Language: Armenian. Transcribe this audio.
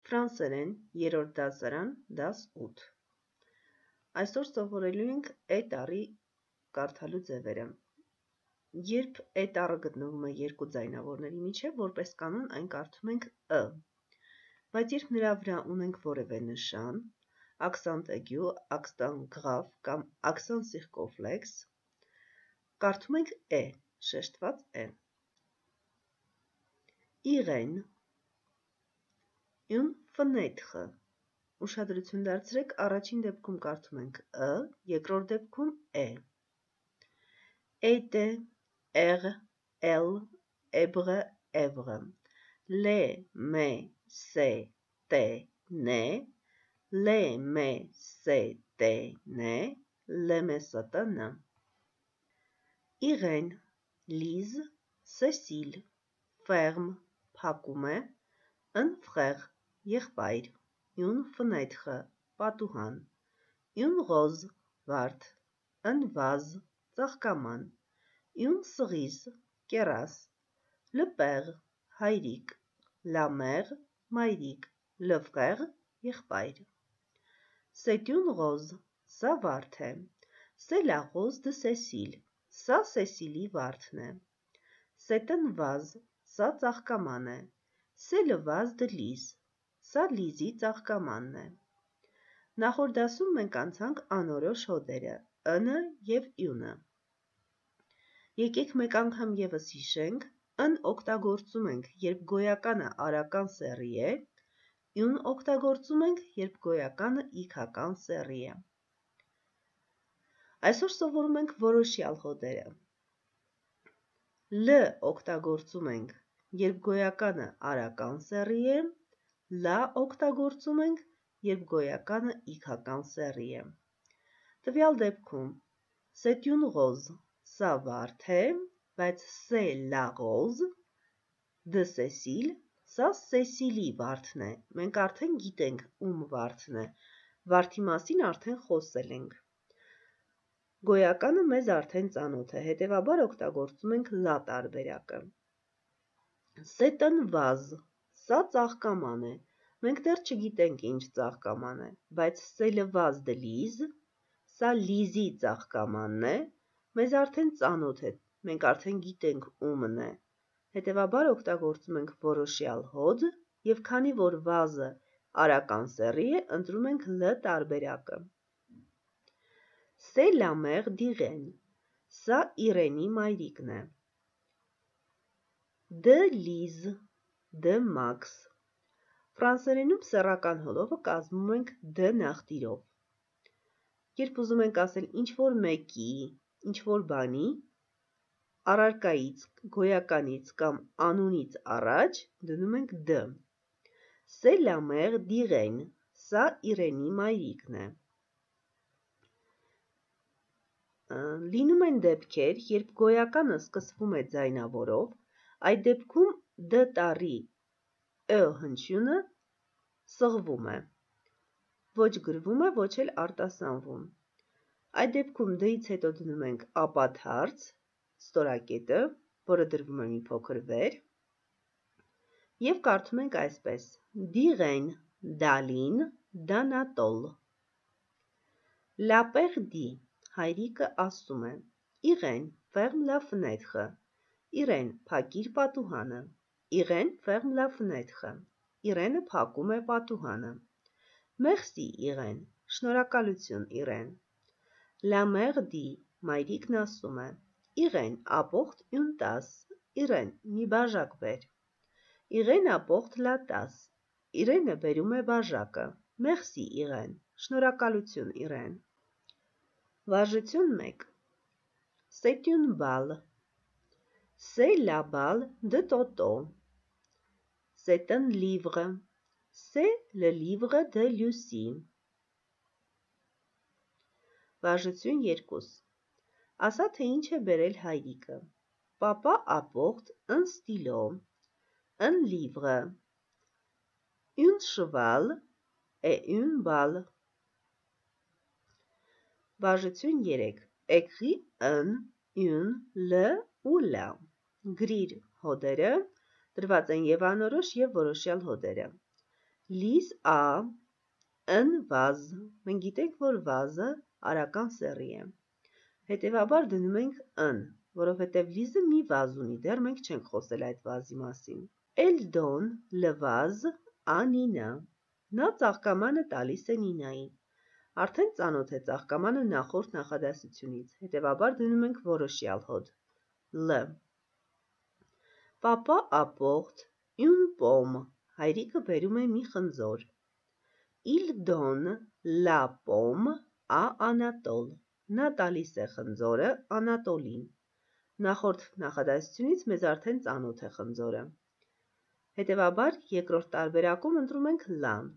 Ֆրանսերեն, երրորդ դասարան, դաս 8։ Այսօր սովորելու ենք է տառի կարդալու ձևերը։ Երբ է տառը գտնվում է երկու ձայնավորների միջև, որպես կանոն այն կարդում ենք ը, բայց երբ նրա վրա ունենք որևէ նշան, աքսանտ էգյու, աքսանտ գրավ կամ աքսանտ սիրկոֆլեքս, կարդում ենք է, շեշտված է։ Իրեն Une fenêtre, ուշադրություն դարձրեք, առաջին դեպքում կարդում ենք ը, երկրորդ դեպքում է։ Était, er, elle, ebre, evre, le, me, se, te, ne, le, me, se, te, ne, le, me, se, te, ne. Իրեն, Լիզ, Սեսիլ, Ֆերմ, փակում է, un frère, եղբայր, une fenêtre, պատուհան, une rose, վարդ, un vase, ծաղկաման, une cerise, կեռաս, le père, հայրիկ, la mère, մայրիկ, le frère, եղբայր։ C'est une rose, սա վարդ է, c'est la rose de Cécile, սա Սեսիլի վարդն է, c'est un vase, սա ծաղկաման է, c'est le vase de Lise, սա Լիզի ծաղկամանն է։ Նախորդ դասում մենք անցանք անորոշ հոդերը, ը և յունը։ Եկեք մեկ անգամ ևս հիշենք, ըն օգտագործում ենք, երբ գոյականը արական սեռի է, յուն օգտագործում ենք, երբ գոյականը իգական սեռի է։ Այսօր սովորում ենք որոշյալ հոդերը։ Լ օգտագործում ենք, երբ գոյականը արական սեռի է, լա օգտագործում ենք, երբ գոյականը իգական սեռի է։ Տվյալ դեպքում c'est une rose, սա վարդ է, բայց c'est la rose de Cécile, սա Սեսիլի վարդն է։ Մենք արդեն գիտենք ում վարդն է, վարդի մասին արդեն խոսել ենք։ Գոյականը մեզ արդեն ծանոթ է, հետևաբար օգտագործում ենք լա տարբերակը։ C'est un vase, սա ծաղկաման է, մենք դեռ չգիտենք ինչ ծաղկաման է, բայց c'est le vase de Lise, սա Լիզի ծաղկամանն է, մեզ արդեն ծանոթ է, մենք արդեն գիտենք ումն է, հետևաբար օգտագործում ենք որոշյալ հոդ և քանի որ վազը արական սեռի է, ընտրում ենք լ տարբերակը։ C'est la mère d'Irène, սա Իրենի մայրիկն է։ De Lise, de Max, ֆրանսերենում սեռական հոլովը կազմում ենք դ նախտիրով։ Երբ ուզում ենք ասել ինչ-որ մեկի, ինչ-որ բանի, առարկայից, գոյականից կամ անունից առաջ դնում ենք դ։ C'est la mère d'Irène, սա Իրենի մայրիկն է։ Լինում են դեպքեր, երբ գոյականը սկսվում է ձայնավորով, այդ դեպքում դ տառի ը հնչյունը սղվում է, ոչ գրվում է, ոչ էլ արտասանվում։ Այդ դեպքում դից հետո դնում ենք ապաթարց, ստորակետը, որը դրվում է մի փոքր վեր, և կարդում ենք այսպես. D'Irène, d'Aline, d'Anatole. La père dit, հայրիկը ասում է, Իրեն, ferme la fenêtre, Իրեն, փակիր պատուհանը, Իրեն, ferme la fenêtre, Իրենը փակում է պատուհանը, Merci, Իրեն, շնորհակալություն, Իրեն, La mère dit, մայրիկն ասում է, Իրեն, apporte une tasse, Իրեն, մի բաժակ բեր, Իրեն apporte la tasse, Իրենը բերում է բաժակը, Merci, Իրեն, շնորհակալություն, Իրեն։ Վարժություն 1. C'est une balle. C'est la balle de Toto. C'est un livre. C'est le livre de Lucie. Վարժություն 2. Ասա թե ինչ է բերել հայրիկը. Papa apporte un stylo, un livre, un cheval et une balle. Վարժություն 3. Écris un, une, le ou la. Գրիր հոդերը, դրված են և անորոշ և որոշյալ հոդերը։ Լիս ա ըն վազ։ Մենք գիտենք, որ վազը արական սեռի է։ Հետևաբար դնում ենք ըն, որովհետև լիզը մի վազ ունի, դեռ մենք չենք խոսել այդ վազի մասին։ Էլ դոն լվազ ա Նինա։ Նա ծաղկամանը տալիս է Նինային։ Արդեն ծանոթ է ծաղկամանը նախորդ նախադասությունից, հետևաբար դնում ենք որոշյալ հոդ Լ։ Պապա ապորտ յուն պոմ։ Հայրիկը բերում է մի խնձոր։ Il donne la pomme à Anatole։ Նա տալիս է խնձորը Անատոլին։ Նախորդ նախադասությունից մեզ արդեն ծանոթ է խնձորը։ Հետևաբար երկրորդ տարբերակում ընտրում ենք լան,